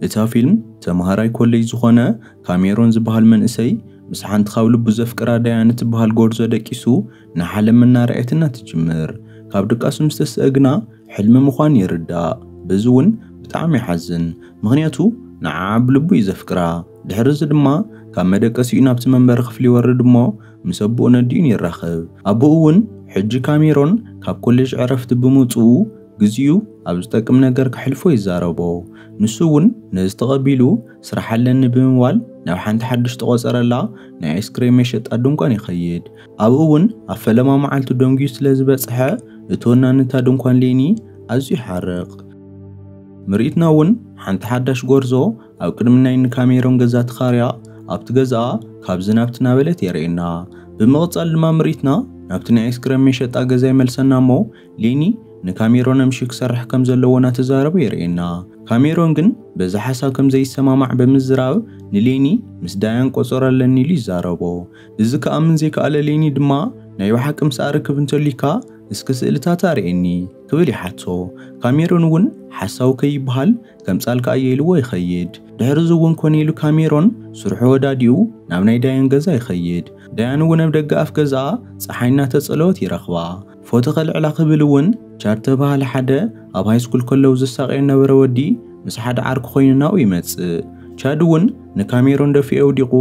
እታ ፊልም ተምሃራይ ኮሌጅ ዝኾነ ካሜሮን ዝበሃል መንእሰይ ምስ ሓንቲ ካብ ልቡ ዘፍቅራ ዳያን እትበሃል ጎርዞ ደቂሱ ንዓለም እናረኣየትና ትጅምር። ካብ ድቃሱ ምስ ተስአ ግና ሕልሚ ምዃኑ ይርዳእ። በዚ እውን ብጣዕሚ ይሓዝን፣ ምኽንያቱ ንዓዓ ብልቡ እዩ ዘፍቅራ። ድሕሪ እዚ ድማ ካብ መደቀሲኡ ናብቲ መንበሪ ክፍሊ ይወርድ እሞ ምስ ኣቦኡ ነዲኡን ይራኸብ። ኣቦኡ እውን ሕጂ ካሜሮን ካብ ኮሌጅ ዕረፍቲ ብምውፅኡ ግዜኡ ኣብ ዝጠቅም ነገር ከሕልፎ ይዛረቦ። ንሱ እውን ነዚ ተቐቢሉ ስራሕ ኣለኒ ብምባል ናብ ሓንቲ ሓድሽ ተቖፀረላ ናይ ኣይስክሬም መሸጣ ድንኳን ይኸይድ። ኣብኡ እውን ኣብ ፈለማ መዓልቱ ደንጉዩ ስለ ዝበፅሐ እቶና ነታ ድንኳን ሌኒ ኣዝዩ ይሓርቕ። ምርኢትና እውን ሓንቲ ሓዳሽ ጎርዞ ኣብ ቅድሚ ናይ ንካሜሮን ገዛ ተኻርያ ኣብቲ ገዛኣ ካብዚ ናብቲ ናበለት የርእየና። ብምቕጻል ድማ ምርኢትና ናብቲ ናይ ኣይስክሬም መሸጣ ገዛ ይመልሰና እሞ ሌኒ ንካሜሮን ኣምሽዩ ክሰርሕ ከም ዘለዎ እናተዛረበ የርእየና። ካሜሮን ግን በዚ ሓሳብ ከም ዘይሰማማዕ ብምዝራብ ንሌኒ ምስ ዳያን ቆጸሮ ኣለኒ ኢሉ ይዛረቦ። እዚ ክኣምን ዘይከኣለ ሌኒ ድማ ናይ ብሓቂ ምስኣ ርክብ እንተልዩካ እስኪ ስእልታት ኣርእየኒ ክብል ይሓቶ። ካሜሮን እውን ሓሳዊ ከይበሃል ከምጻልካ እየ ኢልዎ ይኸይድ። ድሕሪ እዚ እውን ኮነ ኢሉ ካሜሮን ስርሑ ወዳዲኡ ናብ ናይ ዳያን ገዛ ይኸይድ። ዳያን እውን ኣብ ደገ ኣፍ ገዛኣ ጸሓይ እናተጸለወት ይረኽባ። ፎቶ ከልዕላ ክብል እውን ቻድ ተባሃለ ሓደ ኣብ ሃይስኩል ከለዉ ዝሳቐዮ ነበረ ወዲ ምስ ሓደ ዓርኩ ኮይኑ ናብኡ ይመጽእ። ቻድ እውን ንካሜሮን ደፊኡ ወዲቑ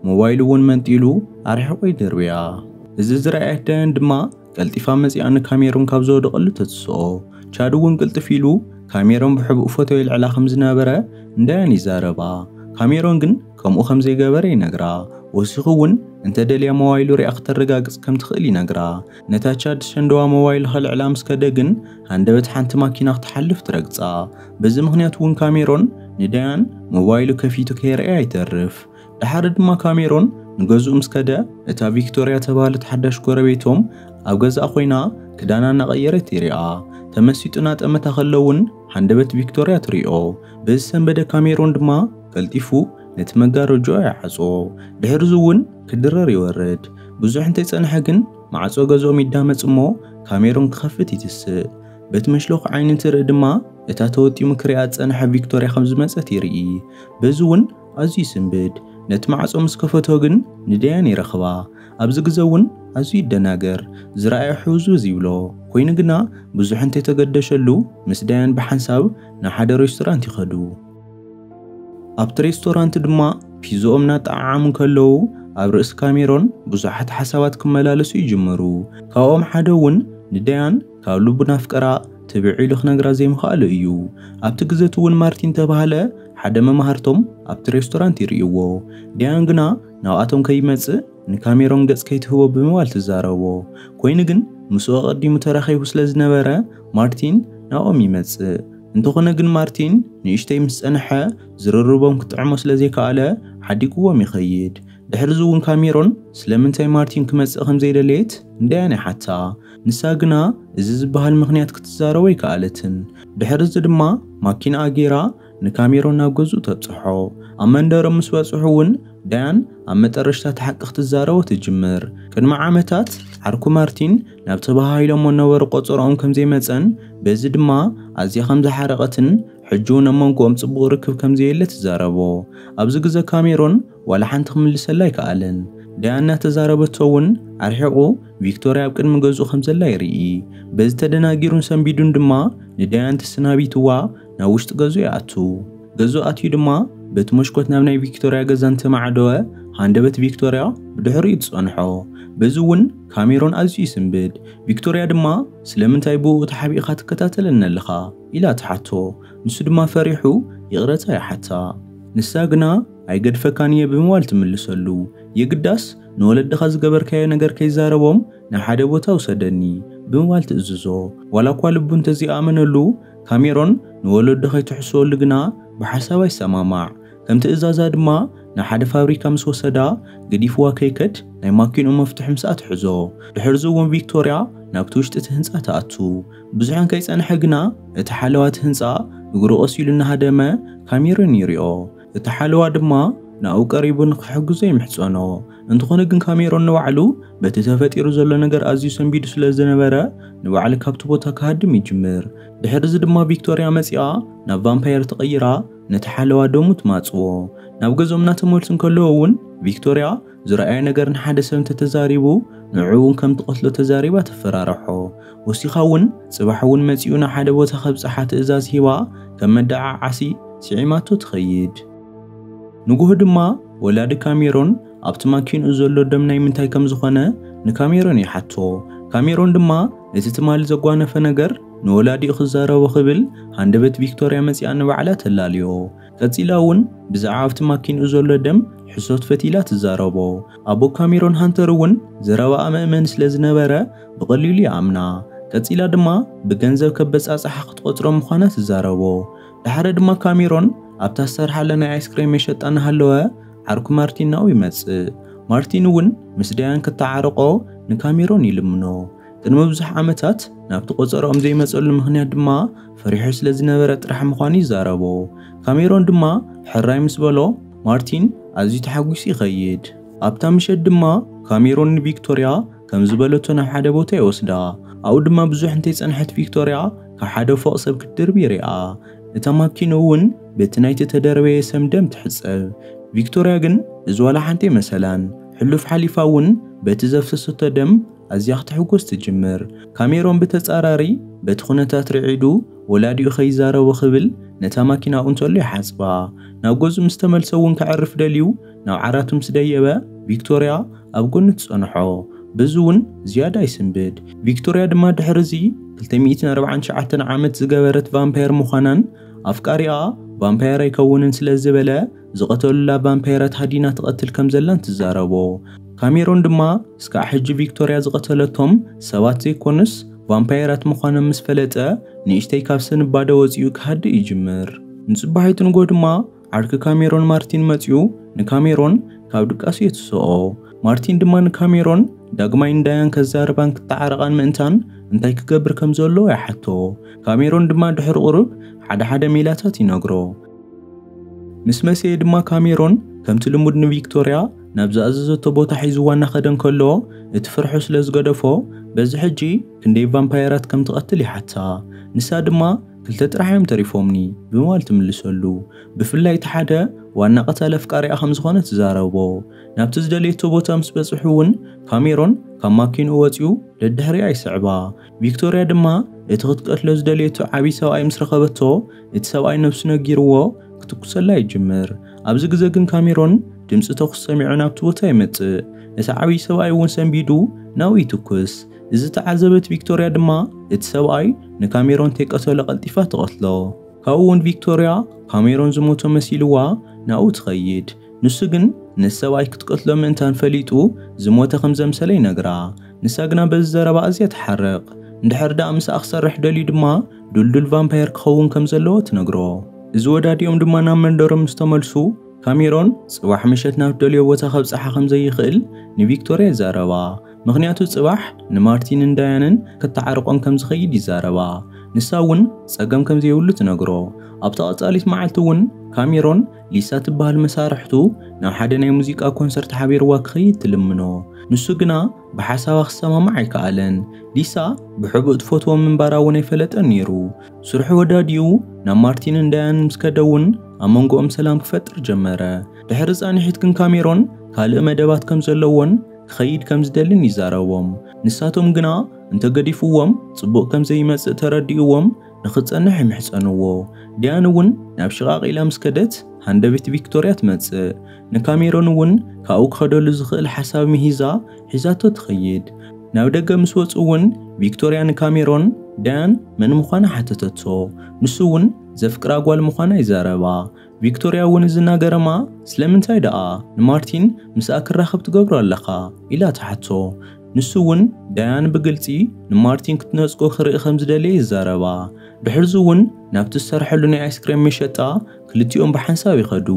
ሞባይሉ እውን መንጢሉ ኣርሒቑ ይድርብያ። እዚ ዝረኣየት ዳያን ድማ ቀልጢፋ መጺኣ ንካሜሮን ካብ ዝወደቐሉ ተትስኦ። ቻድ እውን ቅልጥፍ ኢሉ ካሜሮን ብሕቡእ ፎቶ ይልዕላ ከም ዝነበረ ንዳያን ይዛረባ። ካሜሮን ግን ከምኡ ከም ዘይገበረ ይነግራ። ወሲኹ እውን እንተ ደልያ ሞባይሉ ሪኣ ክተረጋግጽ ከም ትኽእል ይነግራ። ነታ ቻድ ሸንደዋ ሞባይል ከልዕላ ምስ ከደ ግን ሃንደበት ሓንቲ ማኪና ክትሓልፍ ትረግጻ። በዚ ምኽንያት እውን ካሜሮን ንዳያን ሞባይሉ ከፊቱ ከይረኣያ ይተርፍ። ደሓር ድማ ካሜሮን ንገዝኡ ምስ ከደ እታ ቪክቶርያ ተባህለት ሓዳሽ ጎረቤቶም ኣብ ገዛኣ ኮይና ክዳና እናቐየረት ይሪኣ። ተመሲጡ እናጠመታ ከሎ እውን ሃንደበት ቪክቶርያ ትሪኦ። በዚ ሰንበደ ካሜሮን ድማ ቀልጢፉ ነቲ መጋረጆ ይዓጾ። ድሕሪ እዚ እውን ክድረር ይወርድ። ብዙሕ እንተይጸንሐ ግን ማዕጾ ገዝኦም ይዳመጽ እሞ ካሜሮን ክኸፍት ይትስእ። በቲ መሽለኹ ዓይኒ እንትርኢ ድማ እታ ተወጢሙ ክሪኣ ዝጸንሐ ቪክቶርያ ከም ዝመጸት ይርኢ። በዚ እውን ኣዝዩ ይስንብድ። ነቲ ማዕጾ ምስ ከፈቶ ግን ንዳያን ይረኽባ። ኣብዚ ግዘ እውን ኣዝዩ ይደናገር። ዝረኣዮ ሕውዝውዝ ይብሎ። ኮይኑ ግና ብዙሕ እንተይተገደሸሉ ምስ ዳያን ብሓንሳብ ናብ ሓደ ሬስቶራንት ይኸዱ። ኣብቲ ሬስቶራንት ድማ ፒዝኦም እናጠዓዓሙ ከለዉ ኣብ ርእሲ ካሜሮን ብዙሓት ሓሳባት ክመላለሱ ይጅምሩ። ካብኦም ሓደ እውን ንዳያን ካብ ልቡ ናፍቀራ ትብዕ ኢሉ ክነግራ ዘይምኽኣሉ እዩ። ኣብቲ ግዘ እቲ እውን ማርቲን ተባህለ ሓደ መማህርቶም ኣብቲ ሬስቶራንት ይርእይዎ። ዳያን ግና ናብኣቶም ከይመጽእ ንካሜሮን ገጽ ከይትህቦ ብምባል ትዛረቦ። ኮይኑ ግን ምስኡ ኣቐዲሙ ተራኺቡ ስለ ዝነበረ ማርቲን ናብኦም ይመጽእ። እንተኾነ ግን ማርቲን ንእሽተይ ምስ ጸንሐ ዝርርቦም ክጥዕሞ ስለ ዘይከኣለ ሓዲግዎም ይኸይድ። ድሕሪ እዚ እውን ካሜሮን ስለምንታይ ማርቲን ክመጽእ ከም ዘይደለየት ንዳያን ይሓታ። ንሳ ግና እዚ ዝበሃል ምኽንያት ክትዛረቦ ኣይከኣለትን። ድሕሪ እዚ ድማ ማኪናኣ ገይራ ንካሜሮን ናብ ገዝኡ ተብጽሖ። ኣብ መንደሮም ምስ በጽሑ እውን ዳያን ኣብ መጠረሽታ እቲ ሓቂ ክትዛረቦ ትጅምር። ቅድሚ ዓመታት ዓርኩ ማርቲን ናብ ተባሃሂሎሞ ነበሩ ቆጸሮኦም ከም ዘይመጸን በዚ ድማ ኣዝያ ከም ዝሓረቐትን ሕጂ እውን ኣብ መንጎኦም ጽቡቕ ርክብ ከም ዘየለ ትዛረቦ። ኣብዚ ግዘ ካሜሮን ዋላ ሓንቲ ክምልሰላ ኣይከኣለን። ዳያን እናተዛረበቶ እውን ኣርሒቑ ቪክቶርያ ኣብ ቅድሚ ገዝኡ ከም ዘላ ይርኢ። በዚ ተደናጊሩን ሰንቢዱን ድማ ንዳያን ተሰናቢትዋ ናብ ውሽጢ ገዝኡ ይኣቱ። ገዝኡ ኣትዩ ድማ በቲ መስኮት ናብ ናይ ቪክቶርያ ገዛ እንተማዕደወ ሃንደበት ቪክቶርያ ብድሕሪኡ ትጸንሖ። በዚ እውን ካሜሮን ኣዝዩ ይስንብድ። ቪክቶርያ ድማ ስለምንታይ ብኡ ተሓቢእኻ ትከታተለኒ ኣለኻ ኢላ ትሓቶ። ንሱ ድማ ፈሪሑ ይቕረታ ይሓታ። ንሳ ግና ኣይገድፈካን እየ ብምባል ትምልሰሉ። የግዳስ ንወለድኻ ዝገበርካዮ ነገር ከይዛረቦም ናብ ሓደ ቦታ ውሰደኒ ብምባል ትእዝዞ። ዋላ እኳ ልቡ እንተዘይኣመነሉ ካሜሮን ንወለዱ ከይትሕስወሉ ግና ብሓሳብ ኣይሰማማዕ። ከም ትእዛዛ ድማ ናብ ሓደ ፋብሪካ ምስ ወሰዳ ገዲፍዋ ከይከድ ናይ ማኪንኡ መፍትሒ ምስኣ ትሕዞ። ድሕርዚ እውን ቪክቶርያ ናብቲ ውሽጢ እቲ ህንፃ ትኣቱ። ብዙሕ ከይጸንሐ ግና እቲ ሓለዋ እቲ ህንፃ እግሩ ቀስ ኢሉ እናሃደመ ካሜሮን ይሪኦ። እቲ ሓለዋ ድማ ናብኡ ቀሪቡ ንክሕግዞ ይምሕጸኖ። እንተኾነ ግን ካሜሮን ንባዕሉ በቲ ተፈጢሩ ዘሎ ነገር ኣዝዩ ሰንቢዱ ስለ ዝነበረ ንባዕሉ ካብቲ ቦታ ክሃድም ይጅምር። ድሕርዚ ድማ ቪክቶርያ መጺኣ ናብ ቫምፓየር ተቐይራ ነቲ ሓለዋ ደሙ ትማጽዎ። ናብ ገዝኦም እናተመልሱ እንከለዉ እውን ቪክቶርያ ዝረኣየ ነገር ንሓደ ሰብ እንተተዛሪቡ ንዕኡ እውን ከም ትቐትሎ ተዛሪባ ተፈራርሖ። ወሲኻ እውን ጽባሕ እውን መጺኡ ናብ ሓደ ቦታ ከብጽሓ ትእዛዝ ሂባ ከም መደዓዓሲ ስዒማቶ ትኸይድ። ንጉሆ ድማ ወላዲ ካሜሮን ኣብቲ ማኪንኡ ዘሎ ደም ናይ ምንታይ ከም ዝኾነ ንካሜሮን ይሓቶ። ካሜሮን ድማ እቲ ትማሊ ዘጓነፈ ነገር ንወላዲኡ ክዛረቦ ክብል ሃንደበት ቪክቶርያ መጺኣ ንባዕላ ተላልዮ። ቀጺላ እውን ብዛዕባ ኣብቲ ማኪንኡ ዘሎ ደም ሕሶት ፈቲላ ትዛረቦ። ኣቦ ካሜሮን ሃንተር እውን ዘረባኣ መእመኒ ስለ ዝነበረ ብቐሊሉ ይኣምና። ቀጺላ ድማ ብገንዘብ ከበጻጽሓ ክትቆጽሮ ምዃና ትዛረቦ። ድሓረ ድማ ካሜሮን ኣብታ ዝሰርሓላ ናይ ኣይስክሬም መሸጣ እናሃለወ ዓርኩ ማርቲን ናብኡ ይመጽእ። ማርቲን እውን ምስ ዳያን ክተዓረቆ ንካሜሮን ይልምኖ። ቅድሚ ብዙሕ ዓመታት ናብቲ ቆጸርኦም ዘይመጸሉ ምኽንያት ድማ ፈሪሑ ስለ ዝነበረ ጥራሕ ምዃኑ ይዛረቦ። ካሜሮን ድማ ሕራይ ምስ በሎ ማርቲን ኣዝዩ ተሓጒሱ ይኸይድ። ኣብታ ምሸት ድማ ካሜሮን ንቪክቶርያ ከም ዝበለቶ ናብ ሓደ ቦታ ይወስዳ። ኣብኡ ድማ ብዙሕ እንተይጸንሐት ቪክቶርያ ካብ ሓደ ፎቕ ሰብ ክትድርብ ይሪኣ። እታ ማኪና እውን በቲ ናይቲ ተደረበየ ሰም ደም ትሕጸብ። ቪክቶርያ ግን እዚ ዋላ ሓንቲ መሰላን ሕሉፍ ሓሊፋ እውን በቲ ዘፍሰሰቶ ደም ኣዝያ ክትሕጎስ ትጅምር። ካሜሮን ብተጻራሪ በቲ ኩነታት ርዒዱ ወላዲኡ ከይዛረቦ ክብል ነታ ማኪና ኣብኡ እንተሎ ይሓጽባ። ናብ ገዝኡ ምስ ተመልሰ እውን ከዕርፍ ደልዩ ናብ ዓራቱ ምስ ደየበ ቪክቶርያ ኣብ ጎኑ ትጸንሖ። በዚ እውን ዝያዳ ይስንብድ። ቪክቶርያ ድማ ድሕሪ እዚ ክልተ ሚእትን ኣርባዓን ትሽዓተን ዓመት ዝገበረት ቫምፓየር ምዃናን ኣፍቃሪኣ ቫምፓየር ኣይከውንን ስለ ዝበለ ዝቐተሉላ ቫምፓየራት ሃዲና ትቐትል ከም ዘላን ትዛረቦ። ካሜሮን ድማ እስካዕ ሕጂ ቪክቶርያ ዝቐተለቶም ሰባት ዘይኮኑስ ቫምፓየራት ምዃኖም ምስ ፈለጠ ንእሽተይ ካብ ስንባደ ወፂኡ ክሃድእ ይጅምር። ንፅባሒቱ ንጎ ድማ ዓርኪ ካሜሮን ማርቲን መፂኡ ንካሜሮን ካብ ድቃሱ የትስኦ። ማርቲን ድማ ንካሜሮን ዳግማይ ንዳያን ከዛርባን ክተዓረቓን ምእንታን እንታይ ክገብር ከም ዘለዎ ይሓቶ። ካሜሮን ድማ ድሕሪ ቁሩብ ሓደ ሓደ ሜላታት ይነግሮ። ምስ መሰየ ድማ ካሜሮን ከምቲ ልሙድ ንቪክቶርያ ናብ ዝኣዘዘቶ ቦታ ሒዝዋ እናኸደ እንከሎ እቲ ፍርሑ ስለ ዝገደፎ በዚ ሕጂ ክንደይ ቫምፓየራት ከም ትቐትል ይሓታ። ንሳ ድማ ክልተ ጥራሕ እዮም ተሪፎምኒ ብምባል ትምልሰሉ። ብፍላይ እቲ ሓደ ዋና ቀታሊ ኣፍቃሪኣ ከም ዝኾነ ትዛረቦ። ናብቲ ዝደለየቶ ቦታ ምስ በጽሑ እውን ካሜሮን ካብ ማኪንኡ ወጺኡ ደድሕሪኣ ይስዕባ። ቪክቶርያ ድማ እቲ ክትቀትሎ ዝደለየቶ ዓብዪ ሰብኣይ ምስ ረኸበቶ እቲ ሰብኣይ ነብሱ ነጊርዎ ክትኩሰላ ይጅምር። ኣብዚ ግዜ ግን ካሜሮን ድምፂ ተኩስ ሰሚዑ ናብቲ ቦታ ይመጽእ። እቲ ዓብዪ ሰብኣይ እውን ሰንቢዱ ናብኡ ይትኩስ። እዚ ተዓዘበት ቪክቶርያ ድማ እቲ ሰብኣይ ንካሜሮን ተይቀተሎ ቀልጢፋ ትቐትሎ። ካብኡ እውን ቪክቶርያ ካሜሮን ዝሞቶ መሲልዋ ናብኡ ትኸይድ። ንሱ ግን ነቲ ሰብኣይ ክትቀትሎ ምእንታን ፈሊጡ ዝሞተ ከም ዘምሰለ ይነግራ። ንሳ ግና በዚ ዘረባ ኣዝያ ትሓርቕ። እንድሕር ደኣ ምስኣ ክሰርሕ ደልዩ ድማ ዱልዱል ቫምፓየር ክኸውን ከም ዘለዎ ትነግሮ። እዚ ወዳዲኦም ድማ ናብ መንደሮም ምስ ተመልሱ ካሜሮን ጽባሕ ምሸት ናብ ደልዮ ቦታ ከብጽሓ ከም ዘይኽእል ንቪክቶርያ ይዛረባ። ምኽንያቱ ጽባሕ ንማርቲንን ዳያንን ክተዓርቆም ከም ዝኸይድ ይዛረባ። ንሳ እውን ጸገም ከም ዘይብሉ ትነግሮ። ኣብታ ቀጻሊት መዓልቲ እውን ካሜሮን ሊሳ ትበሃል መሳርሕቱ ናብ ሓደ ናይ ሙዚቃ ኮንሰርት ሓቢርዋ ክኸይድ ትልምኖ። ንሱ ግና ብሓሳባ ክሰማማዕ ኣይከኣለን። ሊሳ ብሕቡእ ትፈትዎም ምንባራ እውን ኣይፈለጠን ነይሩ። ስርሑ ወዳዲኡ ናብ ማርቲንን ዳያንን ምስ ከደ እውን ኣብ መንጎኦም ሰላም ክፈጥር ጀመረ። ድሕሪ ጻንሒት ግን ካሜሮን ካልእ መደባት ከም ዘለዎን ክኸይድ ከም ዝደልን ይዛረቦም። ንሳቶም ግና እንተገዲፍዎም ጽቡቕ ከም ዘይመጽእ ተረዲእዎም ንኽጸንሕ ይምሕጸንዎ። ዳያን እውን ናብ ሽቓቕ ኢላ ምስ ከደት ሃንደበት ቪክቶርያ ትመጽእ። ንካሜሮን እውን ካብኡ ክኸደሉ ዝኽእል ሓሳብ ምሂዛ ሒዛቶ ትኸይድ። ናብ ደገ ምስ ወጹ እውን ቪክቶርያ ንካሜሮን ዳያን መን ምዃና ሓተተቶ። ንሱ እውን ዘፍቅራ ጓል ምዃና ይዛረባ። ቪክቶርያ እውን እዚ እናገረማ ስለምንታይ ደኣ ንማርቲን ምስኣ ክራኸብ ትገብሮ ኣለኻ ኢላ ትሓቶ። ንሱ እውን ዳያን ብግልጺ ንማርቲን ክትነጽጎ ክርኢ ከም ዝደለየ ይዛረባ። ድሕርዚ እውን ናብቲ ዝሰርሐሉ ናይ ኣይስክሬም መሸጣ ክልቲኦም ብሓንሳብ ይኸዱ።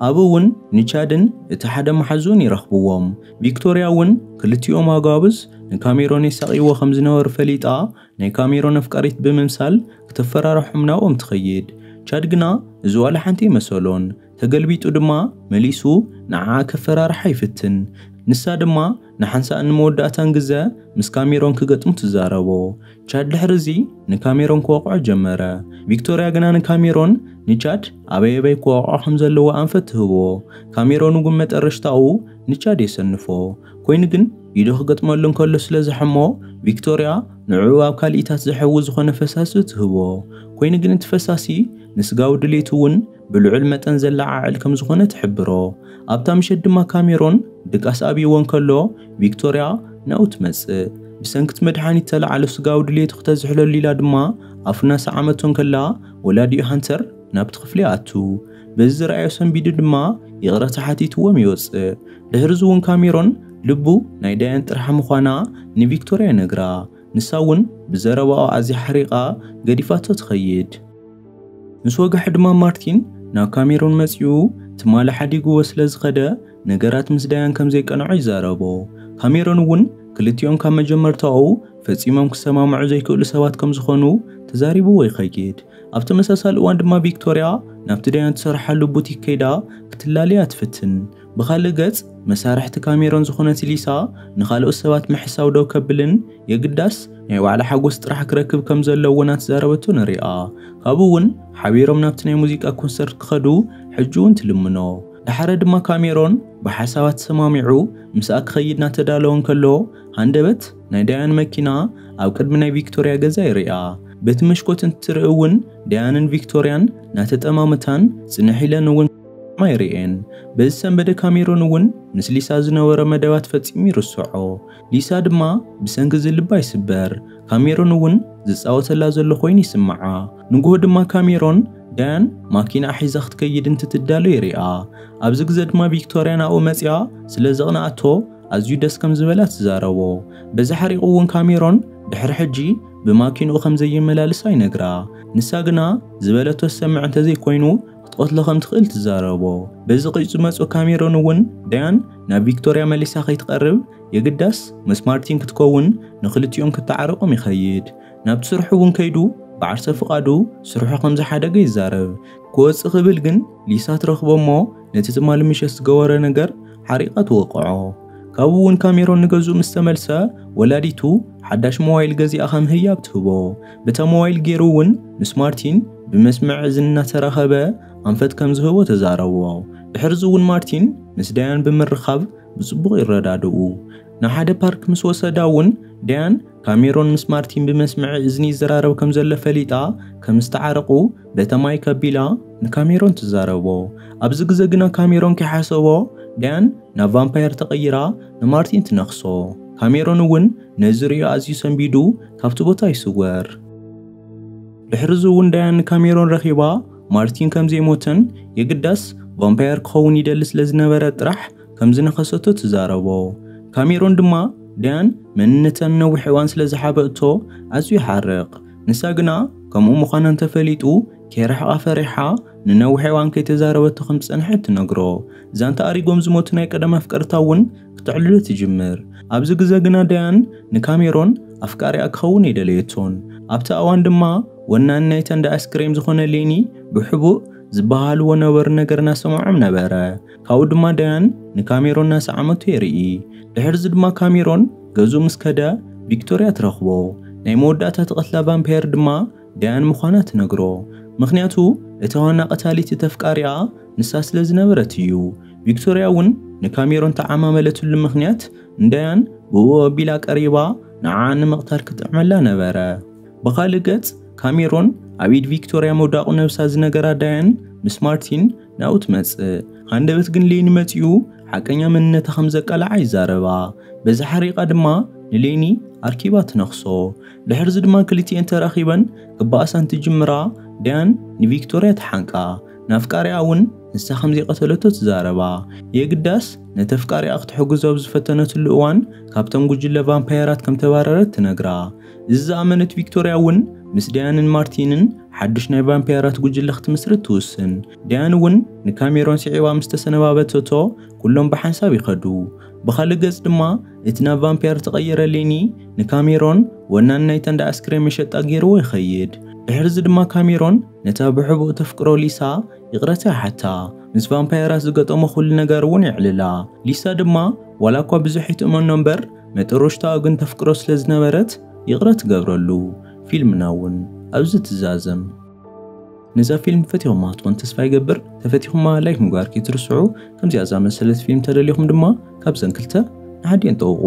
ኣብኡ እውን ንቻድን እቲ ሓደ መሓዙን ይረኽብዎም። ቪክቶርያ እውን ክልቲኦም ኣጋብዝ ንካሜሮን የሳቕይዎ ከም ዝነበሩ ፈሊጣ ናይ ካሜሮን ኣፍቃሪት ብምምሳል ክተፈራርሖም ናብኦም ትኸይድ። ቻድ ግና እዚ ዋላ ሓንቲ ይመሰሎን። ተገልቢጡ ድማ መሊሱ ንዓኣ ከፈራርሓ ይፍትን። ንሳ ድማ ንሓንሳእን ንመወዳእታን ግዘ ምስ ካሜሮን ክገጥሙ ትዛረቦ። ቻድ ድሕሪ እዚ ንካሜሮን ክወቕዖ ጀመረ። ቪክቶርያ ግና ንካሜሮን ንቻድ ኣበይ ኣበይ ክወቕዖ ከም ዘለዎ ኣንፈት ትህቦ። ካሜሮን እውን መጠረሽታኡ ንቻድ የሰንፎ። ኮይኑ ግን ኢዱ ክገጥመሉ እንከሎ ስለ ዝሐሞ፣ ቪክቶርያ ንዕኡ ኣብ ካልኢታት ዝሐዊ ዝኾነ ፈሳሲ ትህቦ። ኮይኑ ግን እቲ ፈሳሲ ንስጋዊ ድሌቱ እውን ብልዑል መጠን ዘለዓዕል ከም ዝኾነ ትሕብሮ። ኣብታ ምሸት ድማ ካሜሮን ድቃስ ኣብይዎ እንከሎ፣ ቪክቶርያ ናብኡ ትመጽእ። ብሰንኪ እቲ መድሃኒት ተለዓሎ ስጋዊ ድሌቱ ክተዝሕለሉ ኢላ ድማ ኣፉ እናሰዓመቶ እንከላ፣ ወላዲኡ ሃንተር ናብቲ ክፍሊ ይኣቱ። በዚ ዝረኣዮ ሰንቢዱ ድማ ይቕረታ ሓቲትዎም ይወጽእ። ድሕሪ እዚ እውን ካሜሮን ልቡ ናይ ዳያን ጥርሓ ምዃና ንቪክቶርያ ይነግራ። ንሳ እውን ብዘረባኡ ኣዝያ ሓሪቓ ገዲፋቶ ትኸይድ። ምስ ወግሐ ድማ ማርቲን ናብ ካሜሮን መጺኡ ትማሊ ሓዲግዎ ስለ ዝኸደ ነገራት ምስ ዳያን ከም ዘይቀንዖ ይዛረቦ። ካሜሮን እውን ክልቲኦም ካብ መጀመርታኡ ፈጺሞም ክሰማምዑ ዘይክእሉ ሰባት ከም ዝኾኑ ተዛሪብዎ ይኸይድ። ኣብ ተመሳሳሊ እዋን ድማ ቪክቶርያ ናብቲ ዳያን ትሰርሓሉ ቡቲክ ከይዳ ክትላለያ ትፍትን። ብኻልእ ገጽ መሳርሕቲ ካሜሮን ዝኾነት ሊሳ ንኻልኦት ሰባት ምሕሳው ደው ከብልን የግዳስ ናይ ባዕላ ሓጎስ ጥራሕ ክረክብ ከም ዘለዎ እናተዛረበቶ ንሪኣ። ካብኡ እውን ሓቢሮም ናብቲ ናይ ሙዚቃ ኮንሰርት ክኸዱ ሕጂ እውን ትልምኖ። ደሓረ ድማ ካሜሮን ብሓሳባት ተሰማሚዑ ምስኣ ክኸይድ እናተዳለወ እንከሎ፣ ሃንደበት ናይ ዳያን መኪና ኣብ ቅድሚ ናይ ቪክቶርያ ገዛ ይርኣ። በቲ መሽኮት እንትትርኢ እውን ዳያንን ቪክቶርያን እናተጠማመታን ጽንሕ ኢለን እውን ይርኤን። በዚ ሰንበደ ካሜሮን እውን ምስ ሊሳ ዝነበሮ መደባት ፈጺሙ ይርስዖ። ሊሳ ድማ ብሰንኪ እዚ ልባ ይስበር። ካሜሮን እውን ዝጻወተላ ዘሎ ኮይኑ ይስምዓ። ንግሆ ድማ ካሜሮን ዳያን ማኪና ሒዛ ክትከይድ እንትትዳሎ ይርኣ። ኣብዚ ግዘ ድማ ቪክቶርያ ናብኡ መጺኣ ስለ ዘቕንኣቶ ኣዝዩ ደስ ከም ዝበላ ትዛረቦ። በዚ ሓሪቑ እውን ካሜሮን ድሕሪ ሕጂ ብማኪንኡ ከም ዘየመላልሳ ይነግራ። ንሳ ግና ዝበለቶ ትሰምዕ እንተዘይኮይኑ ክትቐትሎ ከም ትኽእል ትዛረቦ። በዚ ቂጭ ዝመጾ ካሜሮን እውን ዳያን ናብ ቪክቶርያ መሊሳ ከይትቐርብ የግዳስ ምስ ማርቲን ክትከውን ንክልቲኦም ክተዓረቖም ይኸይድ። ናብቲ ስርሑ እውን ከይዱ ብዓርሰ ፍቓዱ ስርሑ ከም ዝሓደገ ይዛረብ። ክወጽእ ክብል ግን ሊሳ ትረኽቦ እሞ ነቲ ትማሊ ምሸት ዝገበሮ ነገር ሓሪቓ ትወቕዖ። ካብኡ እውን ካሜሮን ንገዝኡ ምስ ተመልሰ ወላዲቱ ሓዳሽ ሞባይል ገዚኣ ከም ህያብ ትህቦ። በታ ሞባይል ገይሩ እውን ምስ ማርቲን ብመስምዕ እዝኒ እናተራኸበ ኣንፈት ከም ዝህቦ ተዛረቦ። ድሕርዚ እውን ማርቲን ምስ ዳያን ብምርኻብ ብጽቡቕ ይረዳድኡ። ንሓደ ፓርክ ምስ ወሰዳ እውን ዳያን ካሜሮን ምስ ማርቲን ብመስምዒ እዝኒ ይዘራረብ ከም ዘሎ ፈሊጣ ከም ዝተዓረቑ በታ ማይክ ኣቢላ ንካሜሮን ትዛረቦ። ኣብዚ ግዘ ግና ካሜሮን ከይሓሰቦ ዳያን ናብ ቫምፓየር ተቐይራ ንማርቲን ትነኽሶ። ካሜሮን እውን ነዚ ርእዩ ኣዝዩ ሰንቢዱ ካብቲ ቦታ ይስወር። ድሕሪ እዚ እውን ዳያን ንካሜሮን ረኺባ ማርቲን ከም ዘይሞተን የግዳስ ቫምፓየር ክኸውን ይደሊ ስለ ዝነበረ ጥራሕ ከም ዝነኸሰቶ ትዛረቦ። ካሜሮን ድማ ዳያን መንነታ ንነዊሕ እዋን ስለ ዝሓበእቶ ኣዝዩ ይሓርቕ። ንሳ ግና ከምኡ ምዃና እንተፈሊጡ ከይርሕቓ ፈሪሓ ንነዊሕ እዋን ከይተዛረበቶ ከም ዝጸንሐት ትነግሮ። ዛንታ ኣሪጎም ዝሞቱ ናይ ቀደም ኣፍቀርታ እውን ክትዕልሎ ትጅምር። ኣብዚ ግዘ ግና ዳያን ንካሜሮን ኣፍቃሪኣ ክኸውን ኣይደለየቶን። ኣብቲ እዋን ድማ ወናኒ ናይታ እንዳ ኣስክሬም ዝኾነ ሌኒ ብሕቡእ ዝበሃልዎ ነበሩ ነገር እናሰምዖም ነበረ። ካብኡ ድማ ዳያን ንካሜሮን እናሰዓመቶ የርኢ። ድሕርዚ ድማ ካሜሮን ገዝኡ ምስ ከደ ቪክቶርያ ትረኽቦ። ናይ መወዳእታ ትቐትላ ቫምፓየር ድማ ዳያን ምዃና ትነግሮ። ምኽንያቱ እታ ዋና ቀታሊት እቲ ኣፍቃሪኣ ንሳ ስለ ዝነበረት እዩ። ቪክቶርያ እውን ንካሜሮን ተዓማመለትሉ ምኽንያት ንዳያን ብእኡ ኣቢላ ቀሪባ ንዓኣ ንምቕታል ክጥዕመላ ነበረ። ብኻልእ ገጽ ካሜሮን ኣብ ኢድ ቪክቶርያ ምውዳቑ ነብሳ ዝነገራ ዳያን ምስ ማርቲን ናብኡ ትመጽእ። ሃንደበት ግን ሌኒ መጺኡ ሓቀኛ መንነታ ከም ዘቃልዓ ይዛረባ። በዚ ሓሪቓ ድማ ንሌኒ ኣርኪባ ትነኽሶ። ድሕርዚ ድማ ክልቲኤን ተራኺበን ክበኣሳ እንትጅምራ ዳያን ንቪክቶርያ ትሓንቃ። ንኣፍቃሪኣ እውን ንሳ ከም ዘይቀተለቶ ትዛረባ። የግዳስ ነቲ ኣፍቃሪኣ ክትሕግዞ ኣብ ዝፈተነትሉ እዋን ካብቶም ጉጅለ ቫምፓየራት ከም ተባረረት ትነግራ። እዚ ዝኣመነት ቪክቶርያ እውን ምስ ዳያንን ማርቲንን ሓድሽ ናይ ቫምፓየራት ጉጅለ ክትምስርት ትውስን። ዳያን እውን ንካሜሮን ስዒባ ምስ ተሰነባበተቶ ኩሎም ብሓንሳብ ይኸዱ። ብኻልእ ገጽ ድማ እቲ ናብ ቫምፓየር ተቐየረ ሌኒ ንካሜሮን ወናኒ ናይታ እንዳ ኣስክሬም መሸጣ ገይርዎ ይኸይድ። ድሕርዚ ድማ ካሜሮን ነታ ብሕቡእ ተፍቅሮ ሊሳ ይቕረታ ይሓታ። ምስ ቫምፓየራት ዝገጠሞ ኩሉ ነገር እውን የዕልላ። ሊሳ ድማ ዋላ እኳ ብዙሕ ይትእመኖ እምበር፣ መጠረሽታኣ ግን ተፍቅሮ ስለ ዝነበረት ይቕረ ትገብረሉ። ፊልምና እውን ኣብዚ ትዛዘም። ነዛ ፊልም ፈቲኹማ ትኾን ተስፋ ይገብር። ተፈቲኹማ ላይክ ምግባር ከይትርስዑ። ከምዚኣ ዝኣመሰለት ፊልም ተደሊኹም ድማ ካብዘን ክልተ ንሓዲኤን ጠውቑ።